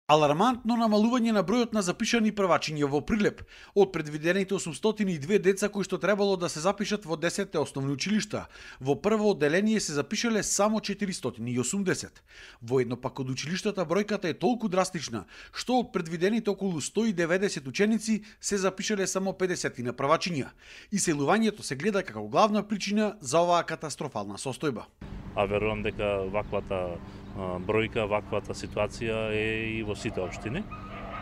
Алармантно намалување на бројот на запишани првачиња во Прилеп. Од предвидените 802 деца кои што требало да се запишат во 10 основни училишта, во прво одделение се запишале само 480. Воедно пак од училиштата бројката е толку драстична, што од предвидените околу 190 ученици се запишале само 50 на првачиња. Иселувањето се гледа како главна причина за оваа катастрофална состојба. А верувам дека ваквата бројка, ваквата ситуација е и во сите општини.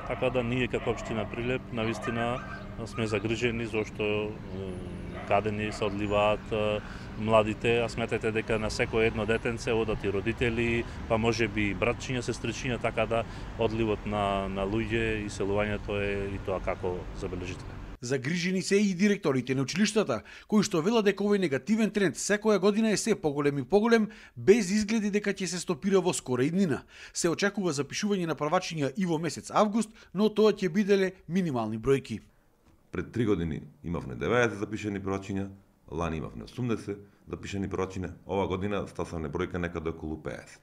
Така да ние како општина Прилеп навистина сме загрижени зашто каде ни се одливаат младите, а сметете дека на секој едно детенце одат и родители, па можеби и братчиња, сестричиња, така да одливот на луѓе и селувањето е и тоа како забележително. Загрижени се и директорите на училиштата, кои што велат дека овој негативен тренд секоја година е се поголем и поголем, без изгледи дека ќе се стопира во скора иднина. Се очекува запишување на првачиња и во месец август, но тоа ќе биделе минимални бројки. Пред 3 години имавме 90 запишани првачиња, лани имавме 80 запишани првачиња, ова година стасавме бројка некаде околу 50.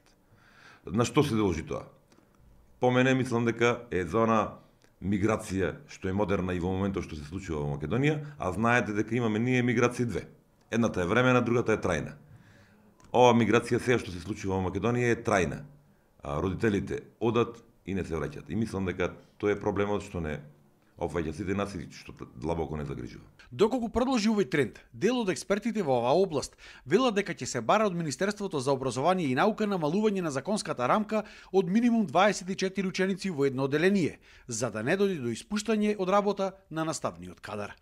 На што се дължи тоа? По мене мислам дека е за она миграција што е модерна и во моментот што се случува во Македонија, а знаете дека имаме ние миграција две. Едната е времена, другата е трајна. Ова миграција сега што се случува во Македонија е трајна. Родителите одат и не се враќаат. И мислам дека тоа е проблемот што не опфаќа сите нас и што длабоко не загрижува. Доколку продолжи овој тренд, дел од експертите во оваа област велат дека ќе се бара од Министерството за образование и наука намалување на законската рамка од минимум 24 ученици во едно одделение, за да не дојде до испуштање од работа на наставниот кадар.